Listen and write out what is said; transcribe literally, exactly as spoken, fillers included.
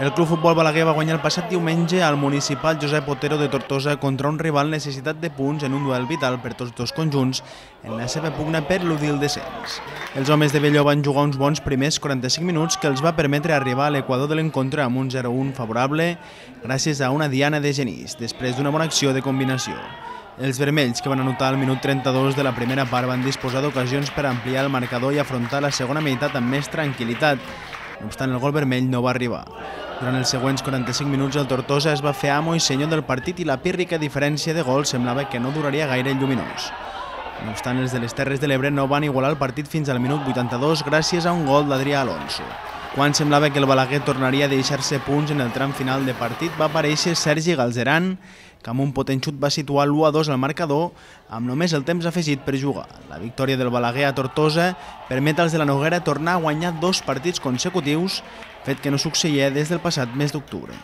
El Club Futbol Balaguer va guanyar el passat diumenge al municipal Josep Otero de Tortosa contra un rival necessitat de punts en un duel vital per tots dos conjunts en la seva pugna per eludir el descens. Els homes de Belló van jugar uns bons primers quaranta-cinc minuts que els va permetre arribar a l'equador de l'encontre amb un zero a un favorable gràcies a una diana de Genís, després d'una bona acció de combinació. Els vermells, que van anotar al minut trenta-dos de la primera part, van disposar d'ocasions per ampliar el marcador i afrontar la segona meitat amb més tranquil·litat. No obstant, el gol vermell no va arribar. Durant els següents quaranta-cinc minuts el Tortosa es va fer amo i senyor del partit i la pírrica diferència de gol semblava que no duraria gaire el lluminós. No obstant, els de les Terres de l'Ebre no van igualar el partit fins al minut vuitanta-dos gràcies a un gol d'Adrià Alonso. Quan semblava que el Balaguer tornaria a deixar-se punts en el tram final de partit, va aparèixer Sergi Galzeran, que amb un potent xut va situar l'u a dos al marcador amb només el temps afegit per jugar. La victòria del Balaguer a Tortosa permet als de la Noguera tornar a guanyar dos partits consecutius, fet que no succeïa des del passat mes d'octubre.